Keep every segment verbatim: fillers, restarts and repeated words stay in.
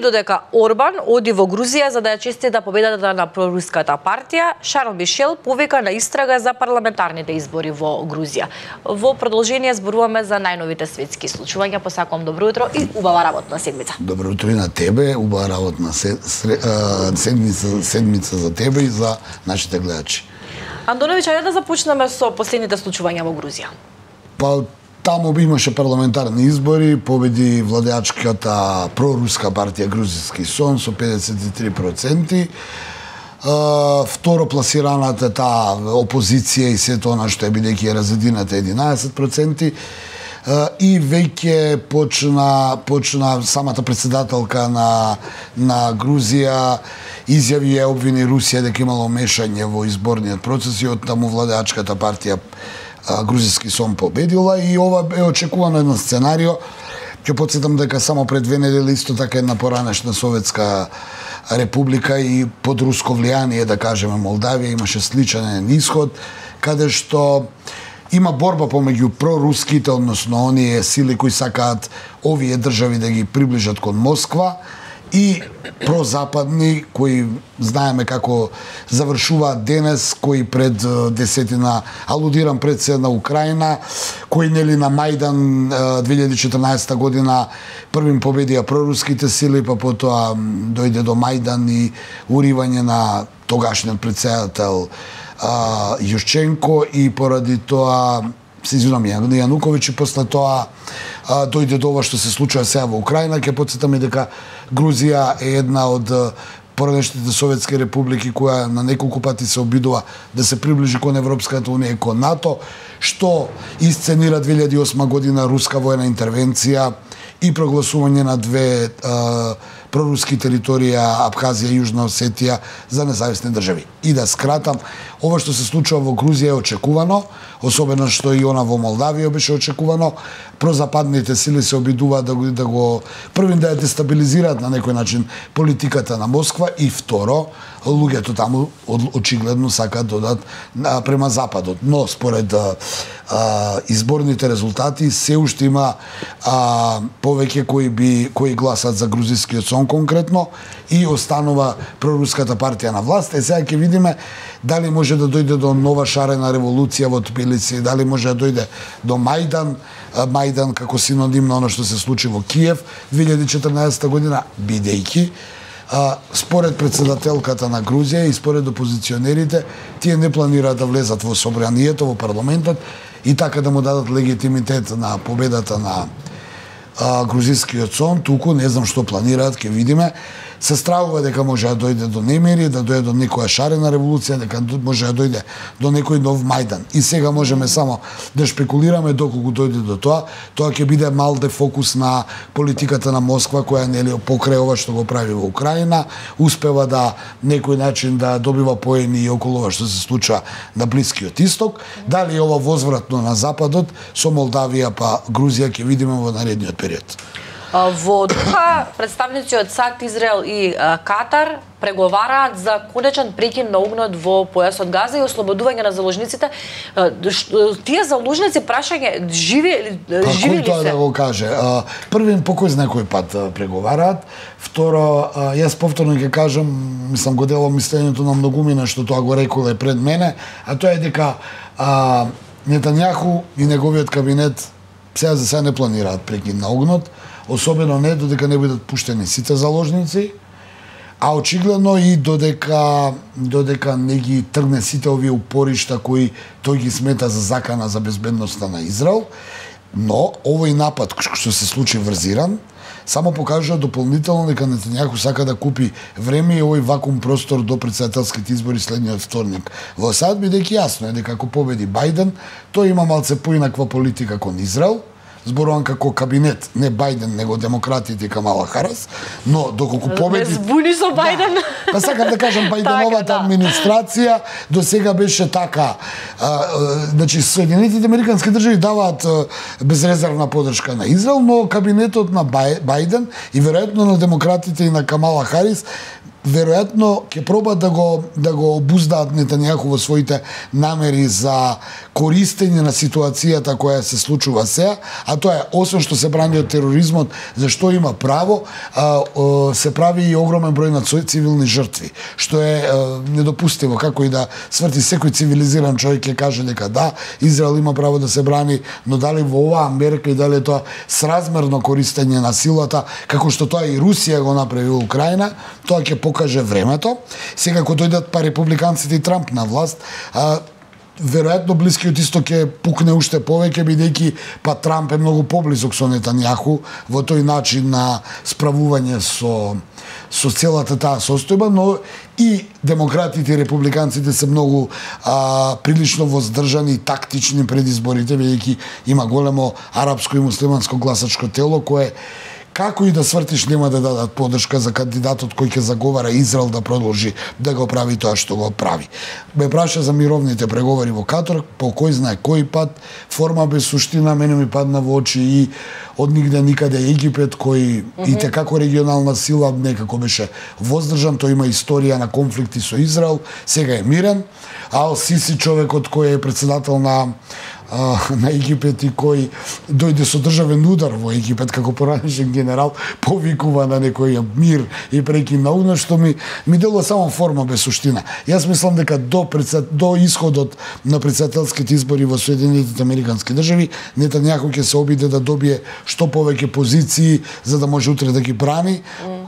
додека Орбан оди во Грузија за да ја честита победата на проруската партија, Шарл Мишел повика на истрага за парламентарните избори во Грузија. Во продолжение зборуваме за најновите светски случувања. Посакувам добро утро и убава работна седмица. Добро утро и на тебе, убава работна седмица, седмица за тебе и за нашите гледачи. Антоновиќ, ајде да започнеме со последните случувања во Грузија. Па таму имаше парламентарни избори, победи владеачката проруска партија Грузиски сон со педесет и три проценти. Uh, второ пласираната таа опозиција и сето она што е бидејќи е разедината единаесет проценти. Uh, и веќе почна почна самата председателка на на Грузија изјави ја обвини Русија дека имало мешање во изборниот процес и оттаму владеачката партија uh, Грузиски сон победила и ова е очекувано едно сценарио. Ќе потсетам дека само пред две недели исто така една поранешна советска република и под руско влијание, да кажеме Молдавија, имаше сличен исход, каде што има борба помеѓу проруските, односно оние сили кои сакаат овие држави да ги приближат кон Москва, и прозападни кои знаеме како завршуваат денес, кои пред десетина, алудирам пред се на Украина, кои нели на Мајдан две илјади и четрнаесетта година првим победија проруските сили, па потоа дојде до Мајдан и уривање на тогашниот претседател Јушченко и поради тоа се извинувам Јануковиќ и после тоа а, дојде до ова што се случува сега во Украина. Ќе потсетаме дека Грузија е една од поранешните советски републики која на неколку пати се обидува да се приближи кон Европската унија и кон НАТО, што исценира две илјади и осма година руска воена интервенција и прогласување на две а, проруски територија, Абхазија и Јужна Осетија, за независни држави. И да скратам, ова што се случува во Грузија е очекувано, особено што и она во Молдавија беше очекувано. Прозападните сили се обидуваат да го, да го првин да ја дестабилизираат на некој начин политиката на Москва и второ, луѓето таму очигледно сакаат да одат према западот. Но според а, а, изборните резултати се уште има а, повеќе кои би кои гласат за грузискиот сон конкретно и останува проруската партија на власт. Е сега ќе видиме дали може да дојде до нова шарена револуција во Тбилиси, дали може да дојде до Мајдан, Мајдан како синоним на оно што се случи во Киев две илјади и четрнаесетта година, бидејќи а, според председателката на Грузија и според опозиционерите, тие не планираат да влезат во собранието, во парламентот и така да му дадат легитимитет на победата на а, грузискиот сон, туку не знам што планираат, ќе видиме. Се стравува дека може да дојде до немири, да дојде до некоја шарена револуција, дека може да дојде до некој нов Мајдан. И сега можеме само да шпекулираме доколку дојде до тоа. Тоа ќе биде мал дефокус на политиката на Москва, која нели покрај ова што го прави во Украина, успева да некој начин да добива поени и околу ова што се случува на Блискиот Исток. Дали ова возвратно на Западот со Молдавија па Грузија ќе видиме во наредниот период. Во Доха, представници од САД, Израел и Катар преговараат за конечен прекин на огнот во појасот Газа и ослободување на заложниците. Тие заложници, прашање, живи, живи ли се? Кој тоа да го каже? Првин, по кој знае кој пат преговараат. Второ, јас повторно ќе кажам, мислам го делам мислењето на многумина што тоа го реколе пред мене, а тоа е дека а, Нетањаху и неговиот кабинет сега за сега не планираат прекин на огнот, особено не додека не бидат пуштени сите заложници, а очигледно и додека додека не ги тргне сите овие упоришта кои тој ги смета за закана за безбедноста на Израел. Но овој напад што се случи врз Иран само покажува дополнително дека Нетањаху сака да купи време и овој вакуум простор до претседателските избори следниот вторник во САД, бидејќи јасно е дека ако победи Бајден, тој има малце поинаква политика кон Израел. Зборувам како кабинет, не Бајден, него демократите и Камала Харис, но доколку победи... Не збуни со Бајден. Да, па сакам да кажам, Бајденовата така, да. администрација до сега беше така. А, а, значи, Соединетите американски држави даваат а, безрезервна подршка на Израел, но кабинетот на Бајден и веројатно на демократите и на Камала Харис веројатно ќе пробаат да го да го обуздаат Нетањаху во своите намери за користење на ситуацијата која се случува сега, а тоа е освен што се брани од тероризмот, зашто има право, а, а, се прави и огромен број на цивилни жртви, што е а, недопустиво. Како и да сврти секој цивилизиран човек ќе каже дека да, Израел има право да се брани, но дали во оваа мерка и дали е тоа сразмерно користење на силата, како што тоа и Русија го направи во Украина, тоа ќе покаже времето. Сега кога дојдат па републиканците и Трамп на власт, а, веројатно Блискиот исток ќе пукне уште повеќе, бидејќи па Трамп е многу поблизок со Нетањаху во тој начин на справување со со целата таа состојба, но и демократите и републиканците се многу а, прилично воздржани и тактични пред изборите, бидејќи има големо арапско и муслиманско гласачко тело кое како и да свртиш нема да дадат поддршка за кандидатот кој ќе заговара Израел да продолжи да го прави тоа што го прави. Ме праша за мировните преговори во Катар, по кој знае кој пат, форма без суштина, мене ми падна во очи и од нигде никаде Египет, кој mm-hmm. и како регионална сила некако беше воздржан, тој има историја на конфликти со Израел, сега е мирен, а Ал Сиси, човекот кој е председател на на Египет и кој дојде со државен удар во Египет како поранешен генерал, повикува на некој мир и прекин на огнот, што ми ми делува само форма без суштина. Јас мислам дека до председ, до исходот на претседателските избори во Соединетите Американски држави, Нетањаху ќе се обиде да добие што повеќе позиции за да може утре да ги брани,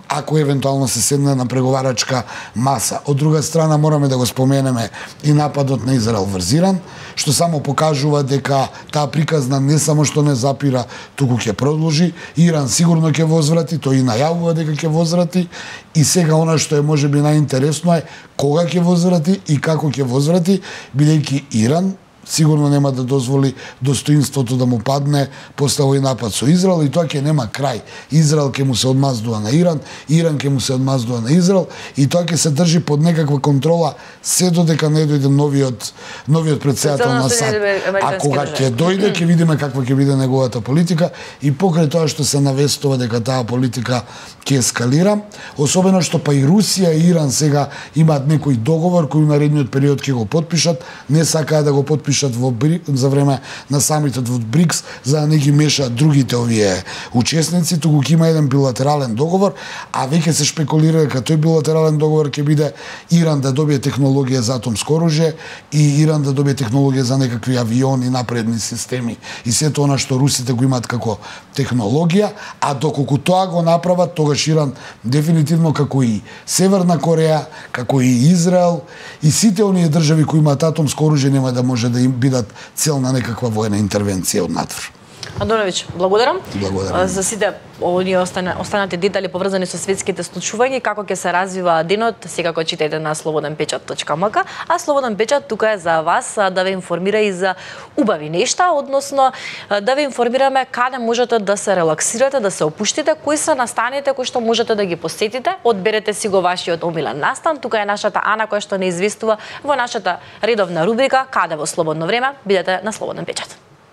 ако евентуално се седне на преговарачка маса. Од друга страна мораме да го споменеме и нападот на Израел врз Иран, што само покажува дека таа приказна не само што не запира, туку ќе продолжи. Иран сигурно ќе возврати, тој и најавува дека ќе возврати, и сега она што е можеби најинтересно е кога ќе возврати и како ќе возврати, бидејќи Иран сигурно нема да дозволи достоинството да му падне после овој напад со Израел, и тоа ќе нема крај. Израел ќе му се одмаздува на Иран, Иран ќе му се одмаздува на Израел, и тоа ќе се држи под некаква контрола се додека не дојде новиот новиот претседател на САД. А кога ќе дојде, ќе видиме каква ќе биде неговата политика, и покрај тоа што се навестува дека таа политика ќе ескалира, особено што па и Русија и Иран сега имаат некој договор кој во наредниот период ќе го потпишат, не сакаат да го потпишат во за време на самитот во БРИКС, за да не ги мешаат другите овие учесници, туку ќе има еден билатерален договор, а веќе се шпекулира дека тој билатерален договор ќе биде Иран да добие технологија за атомско оружје и Иран да добие технологија за некакви авиони, напредни системи и сето она што русите го имаат како технологија, а доколку тоа го направат, тогаш Иран дефинитивно како и Северна Кореја, како и Израел и сите оние држави кои имаат атомско оружје нема да може да им бидат цел на некаква воена интервенција од надвор. Антоновиќ, благодарам. Благодарам. За сите овие останати детали поврзани со светските случувања и како ќе се развива денот, секако читајте на слободен печат точка ем ка, а Слободен печат тука е за вас да ве информира и за убави нешта, односно да ве информираме каде можете да се релаксирате, да се опуштите, кои се настаните кои што можете да ги посетите. Одберете си го вашиот омилен настан. Тука е нашата Ана која што не известува во нашата редовна рубрика Каде во слободно време. Бидете на Слободен печат.